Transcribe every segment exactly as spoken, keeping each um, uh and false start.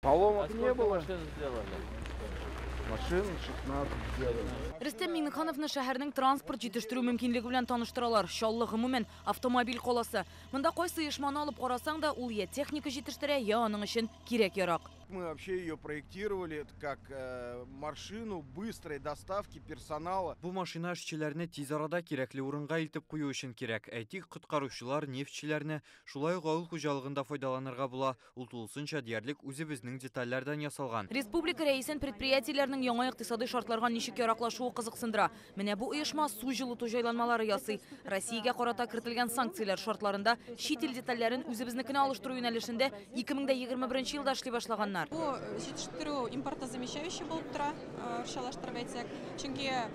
Поломок А не сколько было. Машин сделали? Машин шестнадцать сделали. Рөстәм Миңнехановны шәһәрнең транспорт җитештерү мөмкинлеге белән таныштыралар. Чаллы гомумән автомобиль каласы. Монда кайсы оешманы алып карасаң да, ул я техника җитештерә, я аның өчен кирәк-ярак. Мы вообще ее проектировали это как э, машину быстрой доставки персонала. Бу машина эшчеләрне тиз арада кирәкле урынга илтеп кую өчен кирәк. Әйтик, коткаручылар, нефтьчеләрне шулай ук авыл хуҗалыгында файдаланырга була. Ул тулысынча диярлек үзебезнең детальләрдән ясалган. Республика рәисен предприятиеләрнең яңа икътисадый шартларга ничек яраклашуы кызыксындыра. Менә бу оешма су җылыту җайланмалары ясый. Россиягә карата кертелгән санкцияләр шартларында чит ил детальләрен үзебезнекенә алыштыру юнәлешендә ике мең дә егерме беренче елда эшли башлаганнар. Бу җитештерү импортозамещающий булып тора, э, русчалаштырып әйтсәк. Чөнки э,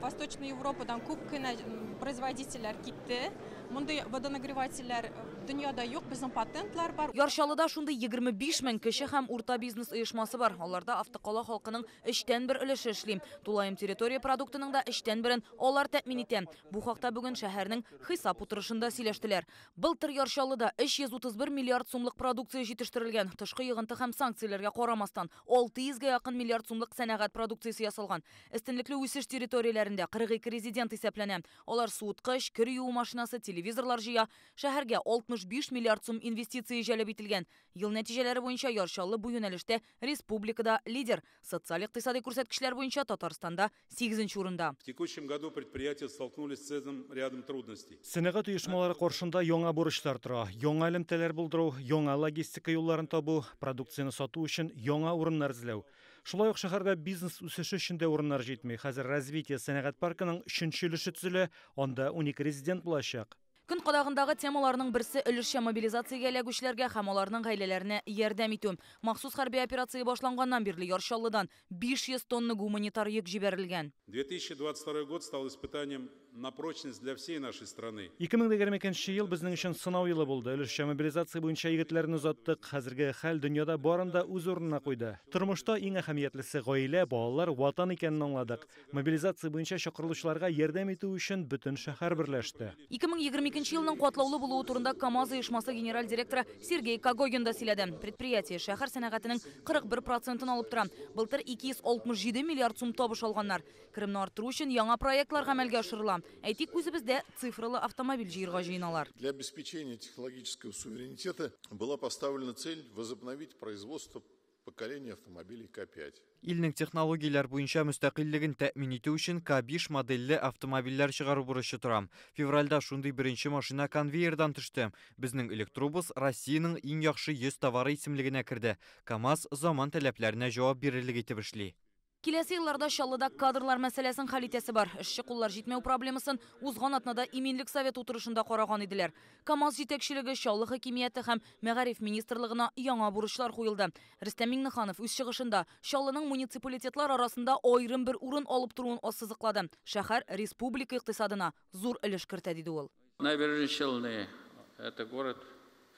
Восточная Европадан күп кенә м, производительләр китте. Мондый водонагревательләр дөньяда юк, безнең патентлар бар. Яр Чаллыда шундый егерме биш мең кече һәм урта бизнес оешмасы бар. Аларда автокала халкының өчтән бер өлеше эшли. Тулаем территория продуктының да өчтән берен алар тәэмин итә. Бу хакта бүген шәһәрнең хисап утырышында сөйләштеләр. Былтыр Яр Чаллыда өч йөз утыз бер миллиард сумлык продукция җитештерелгән. Тышкы йогынты һәм санкцияләргә карамастан, алты йөзгә якын миллиард сумлык сәнәгать продукциясе ясалган. Өстенлекле үсеш территорияләрендә кырык ике резидент исәпләнә. Алар суыткыч, кер юу машинасы, телевизорлар җыя. Шәһәргә алтмыш биш миллиард сум инвестиция җәлеп ителгән. Ел нәтиҗәләре буенча Яр Чаллы бу юнәлештә республикада лидер. Социаль-икътисади күрсәткечләр буенча Татарстанда сигезенче урында. В текущем году предприятия столкнулись с целым рядом трудностей. Сәнәгать оешмалары каршында яңа бурычлар тора. Яңа элемтәләр булдыру, яңа логистика юлларын табу, продукцияне сату өчен яңа урыннар эзләү. Шулай ук шәһәрдә бизнес үсеше өчен дә урыннар җитми. Хәзер Развитие сәнәгать паркының өченче өлеше төзелә, анда унике резидент булачак. Көн кадагындагы темаларның берсе өлешчә мобилизациягә эләгүчеләргә һәм аларның гаиләләренә ярдәм итү. Махсус хәрби операция башланганнан бирле Яр Чаллыдан биш йөз тонна гуманитар йөк җибәрелгән. две тысячи двадцать второй год стал испытанием на прочность для всей нашей страны. ике мең дә егерме икенче ел безнең өчен сынау елы булды. Өлешчә мобилизация буенча егетләрне озаттык. Хәзерге хәл дөньяда барын да үз урынына куйды. Тормышта иң әһәмиятлесе гаилә, балалар, ватан икәнен аңладык. Мобилизация буенча чакырылучыларга ярдәм итү өчен бөтен шәһәр берләште. ике мең егерме икенче елның катлаулы булуы турында КАМАЗ оешмасы генераль директоры Сергей Когогин да сөйләде. Предприятие шәһәр сәнәгатенең кырык бер процентын алып тора. Былтыр ике йөз алтмыш җиде миллиард сум табыш алганнар. Керемне арттыру өчен яңа проектлар гамәлгә ашырыла. Әйтик, үзебездә цифрлы автомобиль җыярга җыеналар. Для обеспечения технологического суверенитета была поставлена цель возобновить производство поколения автомобилей К пять. Илнең технологияләр буенча мөстәкыйльлеген тәэмин итү өчен К биш модельле автомобильләр чыгару бурычы тора. Февральдә шундый беренче машина конвейердан төште. Безнең электробус Россиянең иң яхшы йөз товары исемлегенә керде. КАМАЗ заман таләпләренә җавап бирерлек итеп эшли. Киләсе елларда Чаллыда кадрлар мәсьәләсен хәл итәсе бар. Эшче куллар җитмәү проблемасын узган атнада Иминлек советы утырышында караган иделәр. КАМАЗ җитәкчелеге, Чаллы хакимияте һәм Мәгариф министрлыгына яңа бурычлар куелды. Рөстәм Миңнеханов үз чыгышында Чаллының муниципалитетлар арасында аерым бер урын алып торуын ассызыклады. Шәһәр республика икътисадына зур өлеш кертә, диде ул. Набережные Челны – это город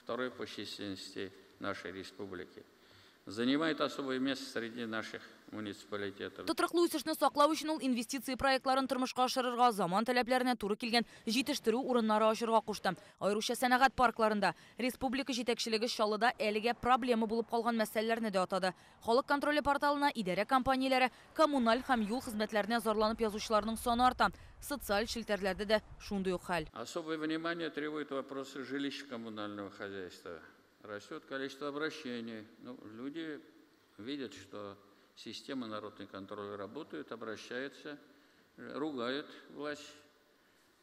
второй по численности нашей республики. Занимает особое место среди наших муниципалитетов. Тотрыклы үсешне саклау өчен ул инвестиция проектларын тормышка ашырырга, заман таләпләренә туры килгән җитештерү урыннары ачырга кушты. Аеруча сәнәгать паркларында. Республика җитәкчелеге Чаллыда әлегә проблема булып калган мәсьәләләрне дә атады. Халык контроле порталына идарә компанияләре, коммуналь һәм юл хезмәтләренә зарланып язучыларның саны арта. Социаль челтәрләрдә дә шундый ук хәл. Особое внимание требует вопросы жилищно-коммунального хозяйства. Растет количество обращений. Ну, люди видят, что система народный контроль работает, обращаются, ругают власть.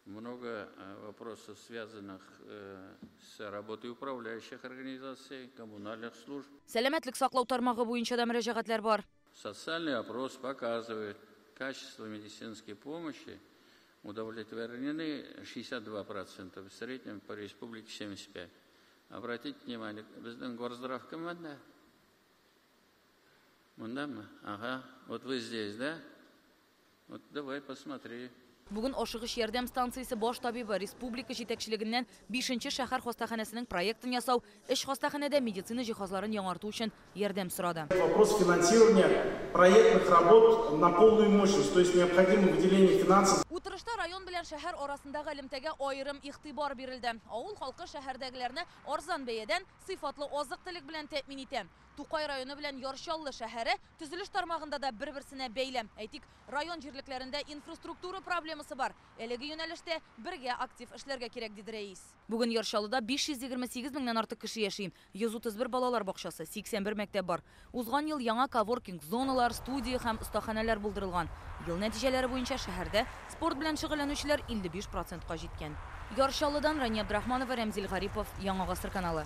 Много э, вопросов, связанных э, с работой управляющих организаций, коммунальных служб. Сәламәтлек саклау тармагы буенча да мөрәҗәгатьләр бар. Социальный опрос показывает, качество медицинской помощи удовлетворены шестьдесят два процента, в среднем по республике семьдесят пять процентов. Обратите внимание, безнең горздрав кем монда? Мондамы? Ага, вот вы здесь, да? Вот давай посмотри. Бүген ашыгыч ярдәм станциясе баш табибы республика җитәкчелегеннән бишенче шәһәр хастаханәсенең проектын ясау, өч хастаханәдә медицина җиһазларын яңарту өчен ярдәм сорады. Вопрос финансирования проектных работ на полную мощность, то есть необходимо выделение финансов. Утырышта район белән шәһәр арасындагы элемтәгә аерым игътибар бирелде. Авыл халкы шәһәрдәгеләрне арзан бәядән сыйфатлы азык-төлек белән тәэмин итә. Тукай районы белән Яр Чаллы шәһәре төзелеш тармагында да бер-берсенә бәйле. Әйтик, район җирлекләрендә инфраструктура проблемасы бар. Әлеге юнәлештә бергә актив эшләргә кирәк, диде рәис. Бүген Яр Чаллыда биш йөз егерме сигез меңнән артык кеше яши. Йөз утыз бер балалар бакчасы, сиксән бер мәктәп бар. Узган ел яңа коворкинг зоналар, студия һәм остаханәләр булдырылган. Ел нәтиҗәләре буенча шәһәрдә спорт белән шөгыльләнүчеләр илле биш процентка җиткән. Яр Чаллыдан Рания Абдрахманова, Рәмзил Гарипов, Яңа Гасыр каналы.